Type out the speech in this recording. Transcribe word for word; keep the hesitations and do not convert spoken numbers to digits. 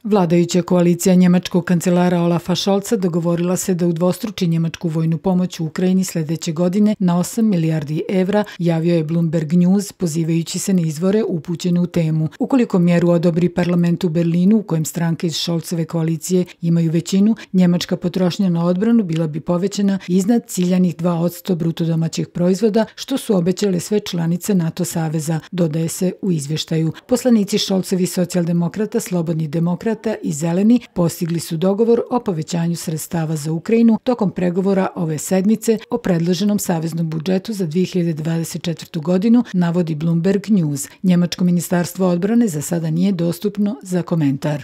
Vladajuća koalicija njemačkog kancelara Olafa Scholza dogovorila se da udvostruči njemačku vojnu pomoć u Ukrajini sljedeće godine na osam milijardi evra, javio je Bloomberg News, pozivajući se na izvore upućene u temu. Ukoliko mjeru odobri parlament u Berlinu, u kojem stranke iz Scholzove koalicije imaju većinu, njemačka potrošnja na odbranu bila bi povećana iznad ciljanih dva posto bruto domaćeg proizvoda, što su obećale sve članice NATO saveza, dodaje se u izvještaju. Poslanici Scholzovi socijaldemokrata, slobodni demokrata i zeleni postigli su dogovor o povećanju sredstava za Ukrajinu tokom pregovora ove sedmice o predloženom saveznom budžetu za dvije hiljade dvadeset četvrtu. godinu, navodi Bloomberg News. Njemačko ministarstvo odbrane za sada nije dostupno za komentar.